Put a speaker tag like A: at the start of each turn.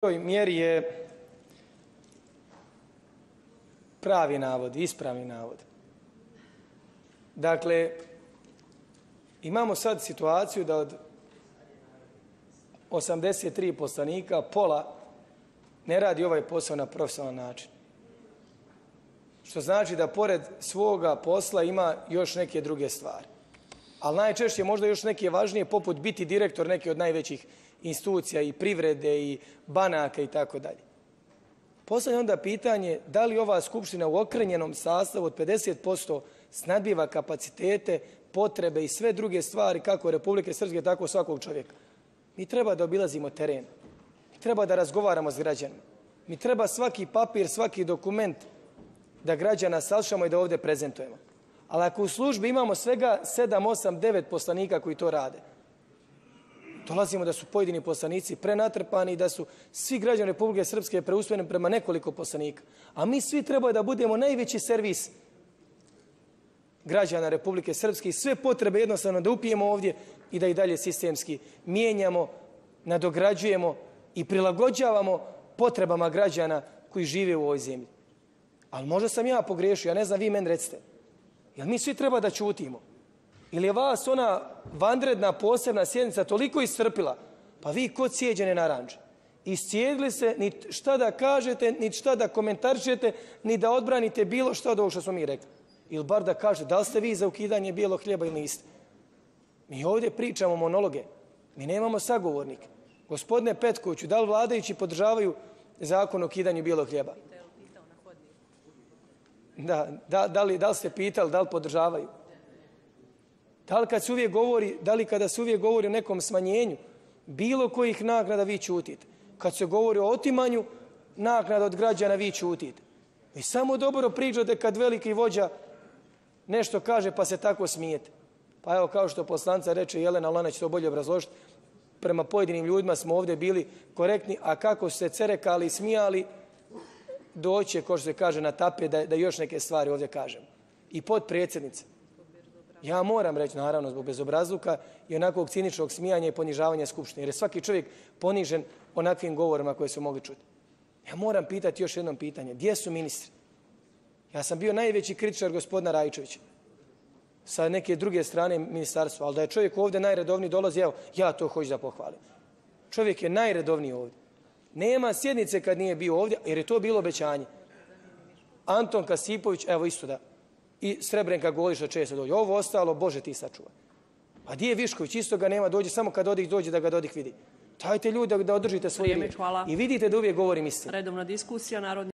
A: toj mjeri je pravi navod, ispravni navod. Dakle, imamo sad situaciju da od 83 poslanika pola ne radi ovaj posao na profesionalan način. Što znači da pored svoga posla ima još neke druge stvari. Ali najčešće možda još neke važnije, poput biti direktor neke od najvećih institucija i privrede i banaka i tako dalje. Postavljam onda pitanje da li ova skupština u okrnjenom sastavu od 50% snadbiva kapacitete, potrebe i sve druge stvari kako Republike Srpske, tako svakog čovjeka. Mi treba da obilazimo teren. Mi treba da razgovaramo s građanima. Mi treba svaki papir, svaki dokument da građana saslušamo i da ovdje prezentujemo. Ali ako u službi imamo svega 7, 8, 9 poslanika koji to rade, dolazimo da su pojedini poslanici prenatrpani i da su svi građani Republike Srpske preusmjereni prema nekoliko poslanika. A mi svi treba da budemo najveći servis građana Republike Srpske i sve potrebe jednostavno da upijemo ovdje i da i dalje sistemski mijenjamo, nadograđujemo i prilagođavamo potrebama građana koji žive u ovoj zemlji. Ali možda sam ja pogrešio, ja ne znam, vi meni recite. Jel mi svi treba da ćutimo? Ili je vas ona vanredna posebna sjednica toliko iscrpila, pa vi kod sjeđene naranđe. Iscijedili se, ni šta da kažete, ni šta da komentarišete, ni da odbranite bilo šta od ovog što smo mi rekli. Ili bar da kažete da li ste vi za ukidanje bijelog hljeba ili niste. Mi ovdje pričamo monologe. Mi nemamo sagovornike. Gospodine Petkoviću, da li vladajući podržavaju zakon o ukidanju bijelog hljeba? Da li ste pitali da li podržavaju? Da li kada se uvijek govori o nekom smanjenju bilo kojih naknada vi ćutite? Kad se govori o otimanju naknada od građana vi ćutite. Vi samo dobro pričate kad veliki vođa nešto kaže pa se tako smijete. Pa evo kao što poslanica reče Jelena, ali ona će to bolje obrazložiti, prema pojedinim ljudima smo ovdje bili korektni, a kako su se cerekali i smijali, doće, kao što se kaže, na tapet da još neke stvari ovdje kažemo. I potpredsjednica. Ja moram reći, naravno, zbog bezobrazluka i onakvog ciničnog smijanja i ponižavanja Skupštine, jer je svaki čovjek ponižen onakvim govorima koje su mogli čuti. Ja moram pitati još jednom pitanje. Gdje su ministri? Ja sam bio najveći kritičar gospodina Rajčevića sa neke druge strane ministarstva, ali da je čovjek ovdje najredovniji dolazi, evo, ja to hoću da pohvalim. Čovjek je najredovniji ovdje. Nema sjednice kad nije bio ovdje, jer je to bilo obećanje. Anton Kasipović, evo isto da. I Srebrenka Goliša često dođe. Ovo ostalo, Bože ti sačuvaj. A gdje je Višković? Isto ga nema, dođe samo kad Dodik dođe da ga Dodik vidi. Dajte ljudi da održite svoje riječ. I vidite da uvijek govorim istinu.
B: Redovna diskusija,